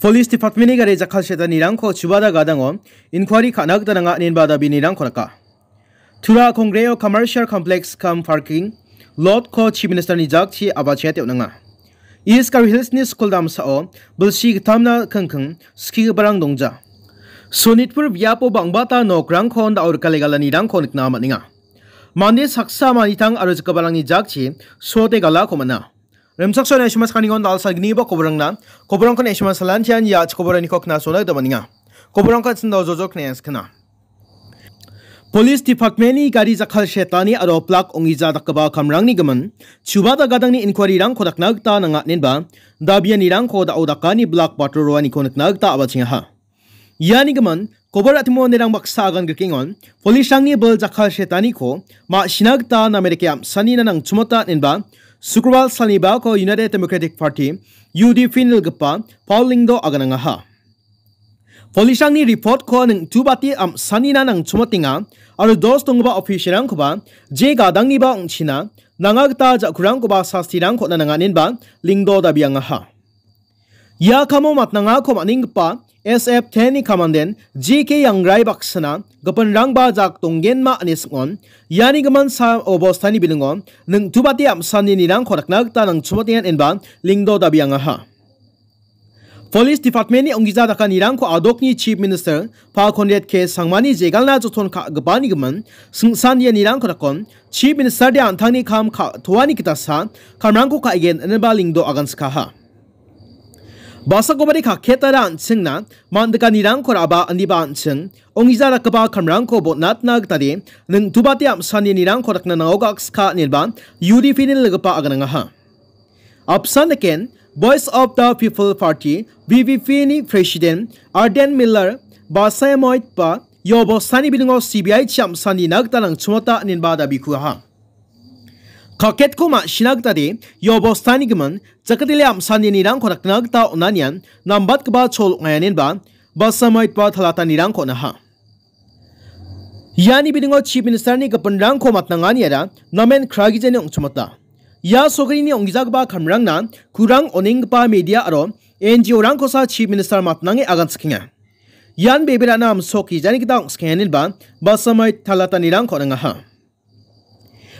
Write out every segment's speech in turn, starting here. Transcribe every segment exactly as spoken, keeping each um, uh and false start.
Police Department-ni gari jakkalsetanirangko chubada gadango inquiry ka·na gita nanga inenba dabinirangko raka. Tura Kongreo Commercial Complex cum Parking Lot-ko Chief Minister-ni jakchi abachia teonanga. East Garo Hills-ni skul damsao bilsi gittamna kingking skigiparang dongja. Sonitpur biapo bang·bata nokrangko dao rikalegalanirangko nikna man·enga. Mande saksa manitang aro jikgiparangni jakchi suote galako man·a. Rimchaksoani aisima sakanigon dal·salgniba koborangna, koborangkon aisima salantian ia chikoboraniko knasona gita man·enga. Koborangko an·ching dao jojok knaiaskana. Police Department-ni gari jakkalsetani aro plak ong·gija dakgipa kamrangni gimin, chubada gadangni inquiry-rangko dakna gita nanga inenba, dabianirangko dao dakani blak bator roaniko nikna gita abachengaha. Iani gimin, kobor a·timo manderang baksa agan grikengon, police-rangni bil jakkalsetaniko ma·sina gita namerike am·sanina nangchimota inenba, Sukrobal salnibako United Democratic Party, U D P-ni nilgipa Paul Lyngdoh aganangaha. Police-rangni report-ko ningtubate am·sanina nangchimotenga aro dos donggipa officer-rangkoba je gadangniba ong·china nanga gita ja·kurangkoba sastirangko on·a nanga inenba Lyngdoh dabiangaha. Ia kamo matnangako man·enggipa S F ten-ni kamanden J K Yangrai baksana gipinrangba jak donggenma ine sing·on, iani gimin sa obostani bilingo ningtubate am·saninirangko dakna gita nangchimotenga inenba Lyngdoh dabiangaha. Police Department-ni ong·gija dakanirangko adokni Chief Minister Pa Conrad K Sangmani jegalna joton ka·gipani gimin singsan ianirangko dakon Chief Minister-de an·tangni kam ka·toani gitasa kamrangko ka·gen ineba Lyngdoh aganskaha. Basakobari kaketara an·chingna man·dikanirangko ra·ba aniba an·ching ong·gija dakgipa kamrangko botnatna gitade ningtubate am·saninirangko dakna nango gakska ineba U D P-ni nilgipa aganangaha. Apsan daken, Voice of the People Party, V P P-ni President Ardent Miller, Basayamoit ba, ia obostani bilingo C B I-chi am·sanina gita nangchimota inenba dabi kuaha. Kaketko ma·sina gitade, ia obostani gimin, jakatele am·saninirangko dakna gita on·anian, nambatgipa chol ong·aia inenba, Basayamoit ba talatanirangko on·aha. Iani bilingo Chief Minister-ni gipinrangko matnanganiara namen kragijani ong·chimota. Ia sorkarini ong·gijagipa kamrangna kurang onenggipa media aro N G O-rangkosa Chief Minister matnange aganchikenga. Ian beberana amsok gijani gita ong·skenga ineba Basayamoit talatanirangko on·angaha.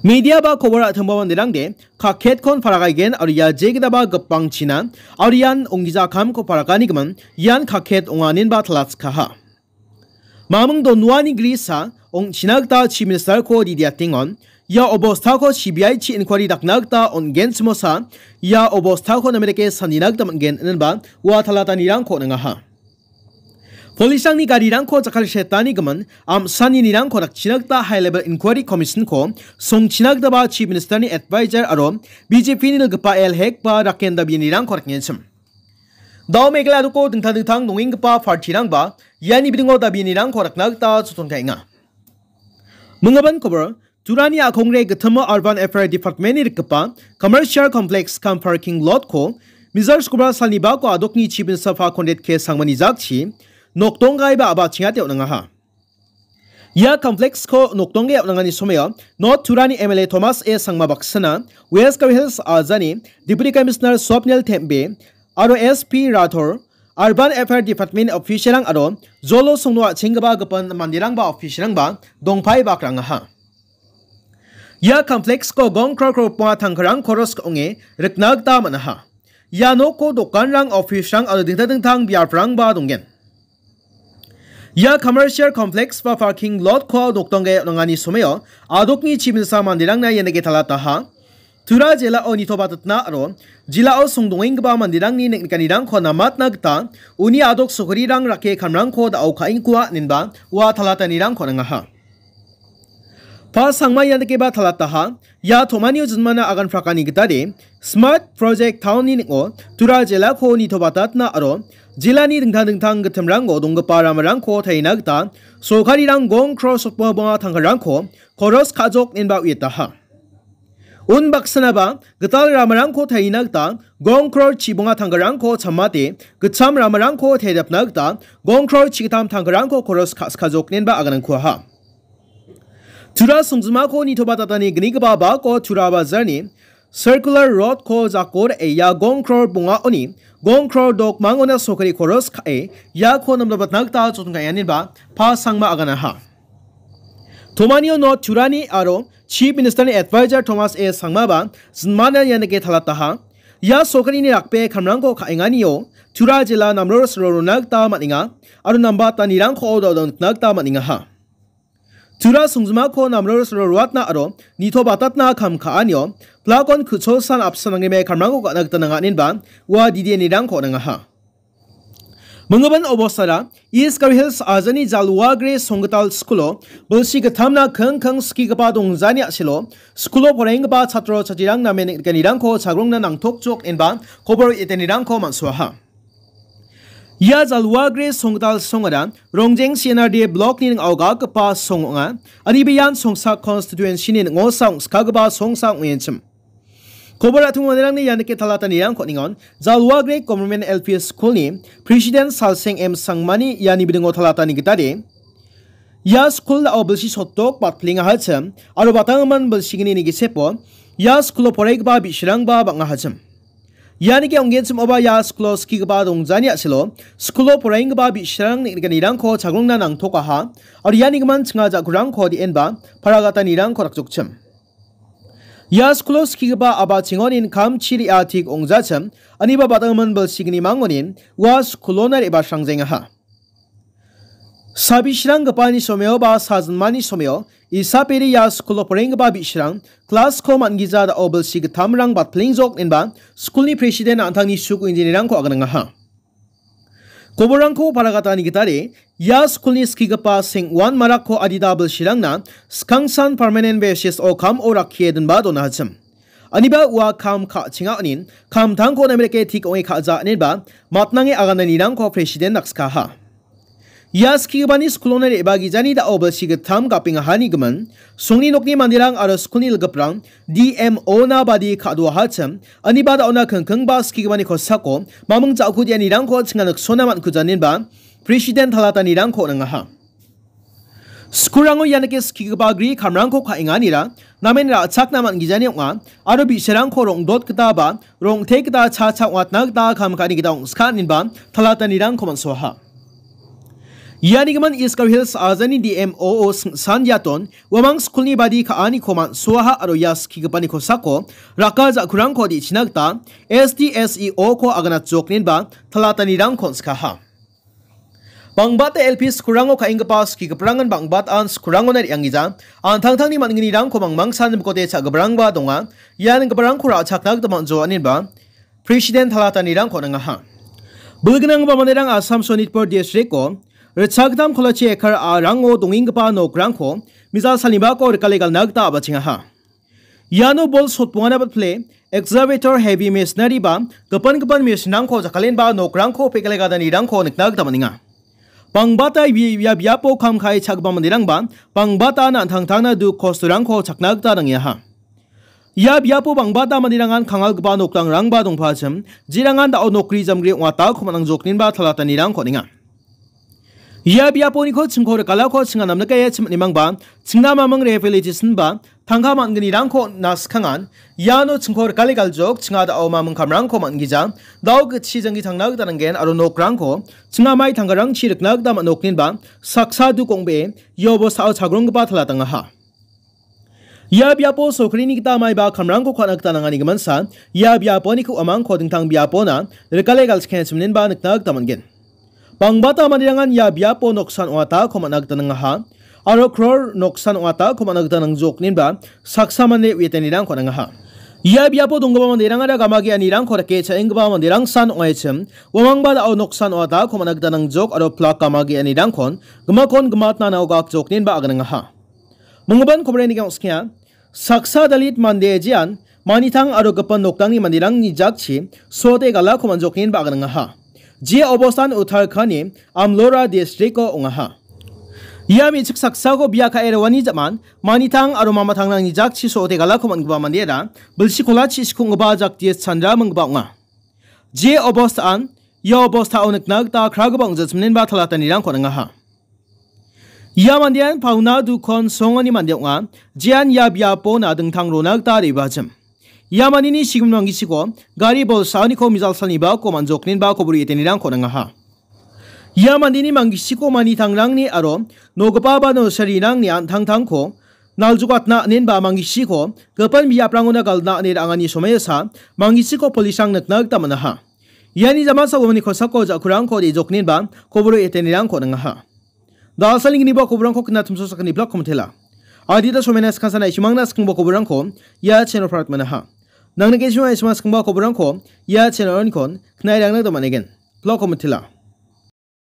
Media ba kobor a·tongba manderangde kaketkon paragaigen aro ia jegitaba gipangchina aro ian ong·gija kamko paragani gimin ian kaket ong·a ineba talatskaha. Mamung Donuani grisa ong·china gita Chief Minister-ko didiatengon, ia obostako C B I-chi inquiry dakna gita on·gen chimosa, ia obostako namerike sanina gita man·gen inenba ua talatanirangko on·angaha. Police-rangni garirangko jakkalsetani gimin, am·saninirangko dakchina gita High Level Inquiry Commission-ko songchina gitaba Chief Minister-ni advisor aro B J P-ni nilgipa L Hek ba Raken dabianirangko dakgenchim. Dao Meghalaya doko dingtang dingtang dongenggipa party-rangba iani bilingo dabianirangko dakna gita joton ka·enga. Minggipan kobor, Turani a·kongre gitimo Urban Affair Department-ni rikgipa Commercial Complex cum Parking Lot-ko Mizoram Sukrobal salnibako adokni Chief Minister Pa Conrad K Sangmani jakchi nokdongaiba a·bachengate on·angaha. Ia complex-ko nokdongge on·angani somoio North Turani M L A Thomas A Sangma baksana, West Garo Hills ajani Deputy Commissioner Swapnil Thembe aro S P Rathore, Urban Affair Department official-rang aro jolo songno a·chenggipa gipin manderangba official-rangba dongpaibakrangaha. Ia complex-ko gong kror kror ponga tangkarang koros ka·onge rikna gita man·aha. Ia noko dokanrang, office-rang aro dingtang dingtang biaprangba donggen. Ia commercial complex ba parking lot-ko nokdongge on·angani somoio adokni chiminsa manderangna ianike talataha. Tura jilao nitobatitna aro jilao songdongenggipa manderangni ning·nikanirangko namatna gita uni adok sokarirang rake kamrangko da·o ka·engkoa inenba ua talatanirangko on·angaha. Pa Sangma iandakeba talataha, ia tom·anio jinmana agan prakani gitade, Smart Project Town-ni ning·o Tura jilako nitobatatna aro jilani dingtang dingtang gitimrango donggipa ramarangko tarina gita sorkarirang gong kror sotbonga tangkarangko koros ka·jok inenba uiataha. Unbaksanaba gital ramarangko tarina gita gong kror chibonga tangkarangko chamate gitcham ramarangko taridapna gita gong kror chigittam tangkarangko koros ka·, ka·jok inenba aganangkuaha. Tura songjinmako nitobatatani gnigipa bako Tura Bajarni Circular Road-ko jako re·e ia gong kror bongaoni gong kror dokmangona sokari koros ka·e iako namdabatna gita joton ka·enganiba Pa Sangma aganaha. Tomanio North Turani aro Chief Minister-ni Advisor Thomas A Sangmaba jinmana ianike talataha. Ia sokarini rakbe kamrangko ka·enganio Tura jila namrosro rona gita man·enga aro nambatanirangko odo-odo nikna gita man·engaha. Tura songjimako namrosro roatna aro nitobatatna kam ka·anio plakon ku·cholsan apsan nangrime kamrangko ka·na gita nanganinba ua didianirangko nangaha. Minggimin obostara East Garo Hills ajani Jalwagre Songgital Skulo bilsi gittamna kingking skigipa dongjani a·selo skulo poraienggipa chatro chatrirang namen neng·gitanirangko chagrongna nangtokjok inba kobor etanirangko man·soaha. Ia Jalwagre Songgital songara Rongjeng C N R D blokni ning·ao galgipa song ong·a. Aniba ian Songsa konstituensini ning·osa ong·skagipa songsa ong·enchim. Kobor a·tung manderangni ianike talatanirangko ningon, Jalwagre Government L P School-ni President Salseng M Sangmani iani bidingo talatani gitade, ia skul dao bilsi sotdok batpilengahachim, aro batanggimin bilsigni nigisepo ia skulo poraigipa bi·sarangba bang·ahachim. Ianike ong·genchim oba ia skulo skigipa dongjani a·selo skulo poraienggipa bi·sarang neng·gitanirangko chagrongna nangtokaha, aro ianigimin chinga ja·kurangko de·enba paragatanirangko dakjokchim. Ia skulo skigipa aba chingonin kamchi re·atik ong·jachim, aniba batanggimin bilsigni mangonin ua skulona re·basrangjengaha. Sabisranggipani someo ba sajinmani someo isaperi ia skulo porenggipa bi·sarang klasko man·gija dao bilsi gittamrang batplengjok inba skulni president an·tangni suku injinirangko aganangaha. Koborrangko paragatani gitade, ia skulni skigipa seng·wan marakko adita bilsirangna skangsan permanent basis-o kam-o rakkie dinba donahachim. Aniba ua kam ka·chenga onin, kamtangko namerike tik ong·e ka·ja inenba, matnange agananirangko president dakskaha. Ia skigipani skulona re·bagijani dao bilsi gittam gapengahani gimin, songni nokni manderang aro skulni ilgiprang, D M O-na badi ka·doahachim, aniba daona kingkingba skigipani kosako maming ja·kudianirangko chinga niksona man·kujaninba, president talatanirangko on·angaha. Skulrango ianike skigipa gri kamrangko ka·enganira namen ra·chakna man·gijani ong·a aro bi·sarangko rong·dot gita ba rong·te gita cha cha ong·atna gita kam ka·ani gita ong·ska inenba talatanirangko man·soaha. Ianigimin East Garo Hills ajani D M O-o singsan diaton uamang skulni badi ka·aniko man·soaha aro ia skigipani kosako raka ja·kurangko de·china gita S D S E O-ko aganatjok inenba talatanirangko on·skaha. Bangbata L P skulrango ka·enggipa skigiprangan bang·bataan skulrangona re·angija. An·tangtangni man·gnirangko mangmangsan bikote cha·giparangba donga. Ian giparangko ra·chakna gita man·joa inenba president talatanirangko on·angaha. Bilgnangba manderang Assam Sonitpur district-o ritchagittam kolachi ekar a·rango dongenggipa nokrangko misa salnibako rikale galna gita a·bachengaha. Iano bol sotbongana batpile, excavator, heavy machinery ba gipin gipin machine-rangko jakkalenba nokrangko pekgale gadanirangko nikna gita man·enga. Bangbata ia, ia biapo kam ka·e cha·gipa manderangba bangbata an·tangtangna duk kostorangko chakna gita nangeaha. Ia biapo bangbata manderangan kangalgipa nokrangrangba dongpachim, jerangan dao nokri jamgri ong·atako man·angjok inenba talatanirangko on·enga. Ia biaponiko chingko rikalako chinga namnikaia chim·animangba, chingna maming rehabilitation ba tangka man·gnirangko on·na skangan, iano chingko rikale galjok chinga dao maming kamrangko man·gija, dao gitchi janggi tangna gita nanggen aro nokrangko chinga mai tangkarangchi rikna gita man·okninba saksa duk ong·bee ia obostao chagronggipa talatangaha. Ia biapo sorkarini gita maiba kamrangko ka·na gita nangani giminsa, ia biaponiko uamangko dingtang biapona rikale galchikenchimninba nikna gita man·gen. Bangbata manderangan ia biapo noksan ong·atako man·a gita nangaha, aro kror noksan ong·atako man·a gita nangjokninba saksa mande uiatanirangko nangaha. Ia biapo donggipa manderangara gamageanirangko rike cha·enggipa manderangsan ong·aichim, uamangba dao noksan ong·atako man·a gita nangjok aro plak gamageanirangkon gimakon gimatna nao gakjokninba aganangaha. Minggimin kobrenigang skia, saksa Dalit mande jean, manitang aro gipin nokdangni manderangni jakchi sote galako man·joknin ba·gringaha. Je obostan Uttarakhand-ni Amlora district-o ong·aha. Ia me·chik saksako bia ka·e roani ja·man, manitang aro mamatangrangni jakchi sote galako man·gipa mandera bilsi kolachi sikonggipa Jagdish Chandra minggipa ong·a. Je obostan, ia obostao nikna gita kragipa ong·jachimninba talatanirangko ningaha. Ia mandean pauna dukon songoni mande ong·a, jean ia biapona dingtang rona gita re·bachim. Ia mandeni sigimin manggisiko gari bolsaoniko mijal salni bako manjoknenba koboro etenirangko nangaha. Ia mandeni manggisiko manitangrangni aro nogipa ba nosarirangni an·tangtangko naljokatna anenba manggisiko gipin biaprangona galna ane ra·angani somoiasa manggisiko polisrang nikna gita man·aha. Iani jamasa uamani kosako ja·kurangko de·joknenba koboro etenirangko nangaha. Dalsalni gniba koborangko knatimso sakani blak komitela. Adita somaina skangsa naisumangna skingba koborangko ia channel parat manaha. Nangni kesima isma skingba koborangko ia channel onikon knairangna domanegen. Blak komitela.